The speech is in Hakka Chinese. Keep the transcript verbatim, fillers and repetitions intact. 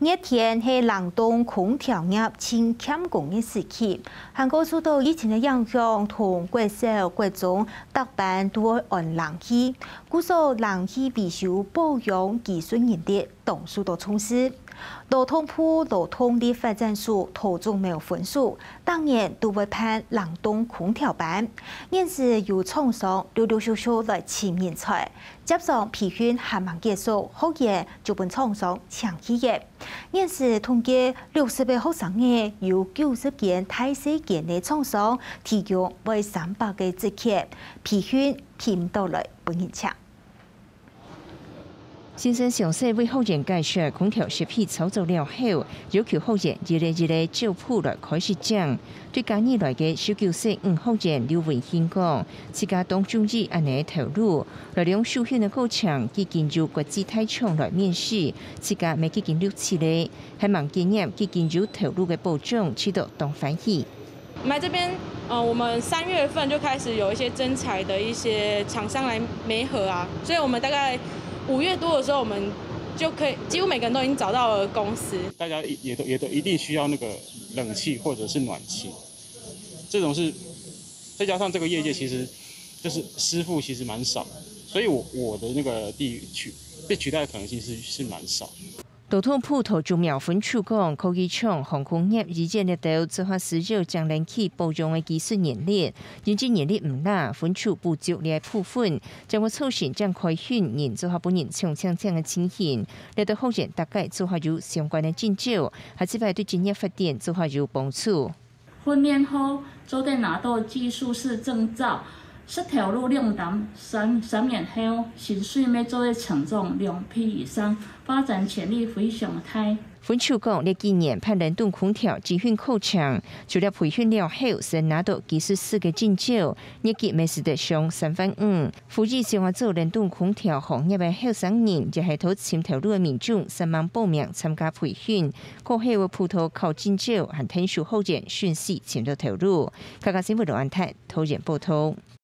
熱天係冷凍空調業盡欠工个時期，還過受到疫情个影響，同國小、國中逐班都會安冷氣，故所冷氣維修保養技術人力當受到重視。勞動部勞動力發展署桃竹苗分署，逐年都會辦冷凍空調班，現時有廠商陸陸續續來尋人才，接上培訓還吂結束，學員就分廠商請去了。 現時統計六十个學生仔，有九十間大細間个廠商提供會三百个職缺，培訓聘到來分人請。先生詳細為學員解說空調設備操作了後，要求學員一个一个照步來開始整。對嘉義來个十九歲女學員劉文欣講，自家當中意恁呢个頭路， 來量受訓个過程，既經由國際大廠來面試，自家乜既經錄取咧，還吂經驗，既經有頭路个保障，試著當歡喜。我們來這邊，呃，我們三月份就開始有一些徵才的一些廠商來媒合啊，所以我們大概五月多的時候，我們就可以幾乎每個人都已經找到了公司。大家也都也都一定需要那个冷气或者是暖气，这种是再加上这个业界其实就是师傅其实蛮少，所以我我的那个地取被取代的可能性是是蛮少。劳動部桃竹苗分處講，科技廠、航空業、醫院這兜做下需要將冷氣保養个技術人力，人力人力毋罅，分處補足這部分，將會促成將開訓人做下分人搶搶搶个情形。這兜學員大概做下有相關个證照，下一擺對職業發展做下有幫助。 訓練後，做得拿到技術士證照，識頭路兩年三三年後，薪水乜做得成長兩倍以上，發展潛力非常大。分處講，這幾年辦冷凍空調集訓課程，除了培訓了後，先拿到技術士个證照，月給乜使得上三萬五。呼籲想愛做冷凍空調行業个後生人，也係討尋頭路个民眾，煞猛報名參加培訓。 過後會輔導考證照，還𢯭手學員順序尋到頭路。客家新聞羅安泰，桃園報導。